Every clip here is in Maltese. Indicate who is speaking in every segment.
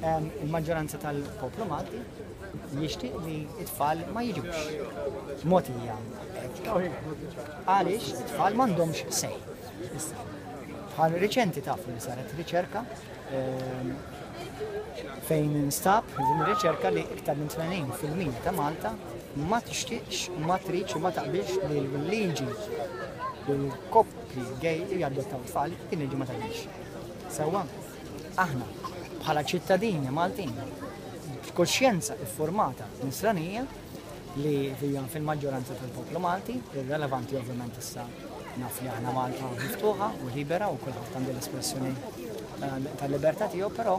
Speaker 1: Il-maġġoranza tal-poplu Malti jixtieq li t-tfal ma jiġux mogħtija hekk. Għaliex it-tfal m'għandhomx sej. Issa, bħal riċenti tafu li saret riċerka ehm, fejn instab din ir-riċerka li iktar minn 80% ta' Malta ma tixtieqx, ma tridx u ma taqbilx li l-liġi li l-koppji gay jadottaw tfal, din liġi ma taqbilx. Sewwa, aħna bħala ċittadini Maltin b'kuxjenza iffurmata nisranija li hija fil-maġġoranza tal-poplu Malti, irrelevanti ovvjament issa naf li aħna Malta miftuħa u libera u kulħadd għandu l-espressjoni tal-libertà tiegħu, però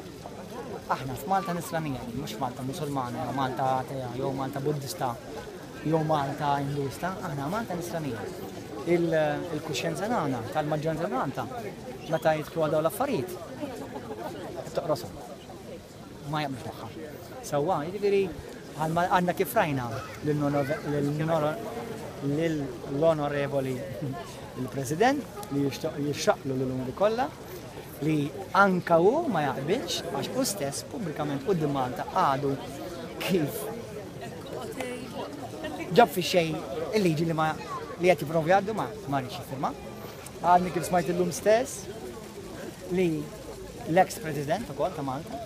Speaker 1: aħna f'Malta nisranija, mhux Malta Musulmana, jew Malta atea, jew Malta Buddista, jew Malta Induista, aħna Malta nisranija. Il-kuxjenza tagħna tal-maġġoranza ta' Malta meta jidħlu għal dawn l-affarijiet toqroshom. Ma jaqblux magħha. Sewwa, jiġifieri għandna kif rajna lill-onorevoli il-President li jixraqlu l-unuri kollha li anka hu ma jaqbilx għax hu stess pubblikament quddiem Malta għadu kif ġab fi xejn il-liġi li ma li qed jipprovi jgħaddu ma ma rridx jiffirma. Għadni kif smajt illum stess li l-ex president ukoll ta' Malta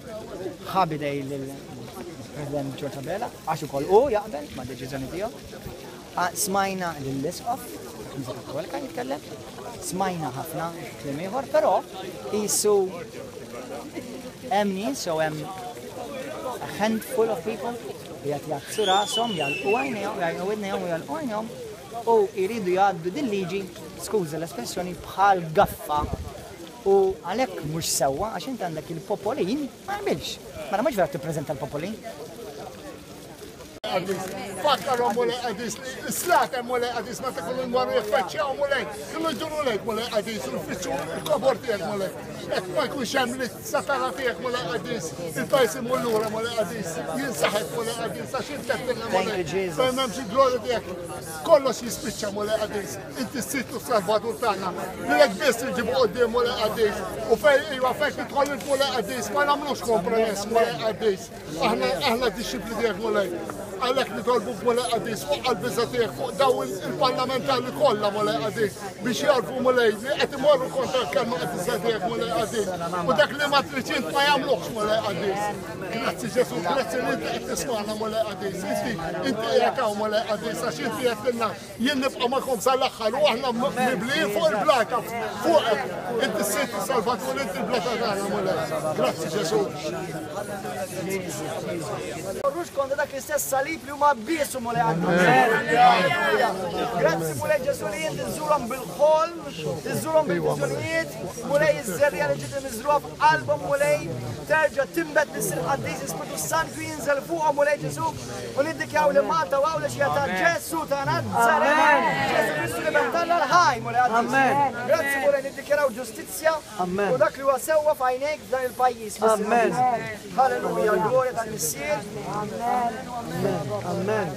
Speaker 1: ħa bidej lill-President George Abela għax ukoll hu jaqbel ma' deċiżjoni tiegħu. Smajna lill-Isqof Knisja Kattolika jitkellem, smajna ħafna kliem ieħor, però qisu hemm nies jew hemm a handful of people li qed jgħaddsu rashom, jagħlqu għajnejhom, jagħlqu widnejhom u jagħlqu għajnejhom u jridu jgħaddu din liġi, skuża l-espressjoni, bħal gaffa. U għalhekk mhux sewwa għax inti għandek il-popolin ma jaqbilx. Mela mhux vera tippreżenta l-popolin.
Speaker 2: Fakkarhom Mulej Qadis li s-slaten Mulej Qadis meta kienu jmorru jiffaċċjaw Mulej, kienu jduru lejk Mulej Qadis u jfittxu l-kobor tiegħek Mulej. Hekk ma jkunx hemm li satana tiegħek Mulej Qadis, il-pajjiż imur lura Mulej Qadis, jinsaħek Mulej Qadis għax int qed Mulej. Fejn m'hemmx il-glorja tiegħek, kollox jispiċċa Mulej Qadis. Inti s-Sid u s-Salvatur tagħna. Lilek biss inġibu quddiem Mulej Qadis. U fejn iva fejn tidħol int Mulej Qadis ma nagħmlux kompromess Mulej Qadis. Aħna aħna dixxipli tiegħek Mulej. Għalhekk nitolbuk Mulej Qadis fuq qalbiża tiegħek fuq daw il-parlamentari kollha Mulej Qadis biex jarfu Mulej li qed imorru kontra l-kelma qadisa tiegħek Mulej Qadis. U dak li ma tridx int ma jagħmluhx Mulej Qadis. Grazzi Ġesu, grazzi li inti qed tismagħna Mulej Qadis. Inti inti qiegħed hawn Mulej Qadis għax inti qed Jien nibqa' magħkom sal-aħħar u aħna miblijin fuq il-blata fuqek. Inti s-Sid Salvatur, inti l-blata tagħna Mulej. Grazzi Ġesu.
Speaker 1: Morrux kontra dak l-istess salib li huma biesu Mulej għandu. Grazzi Mulej Ġesu li inti żżurhom bil-ħolm, iżżurhom bil-viżjonijiet, Mulej iż-żerriegħa li ġiet miżrugħa f'qalbhom Mulej terġa' tinbet Missier Qaddis Ispirtu Santu jinżel fuqhom Mulej Ġesu. U niddikjaw li Malta u Għawdex hija ta' Ġesù ta' Nazaret. Ġesù Kristu l-Iben t'Alla l-ħaj, Mulej Qaddis. Grazzi Mulej niddikjaraw ġustizzja u dak li huwa sewwa f'għajnejk f'dan il-pajjiż. Amen. Halleluja, l-glorja tal-Missier.
Speaker 3: Amen. Amen. Amen.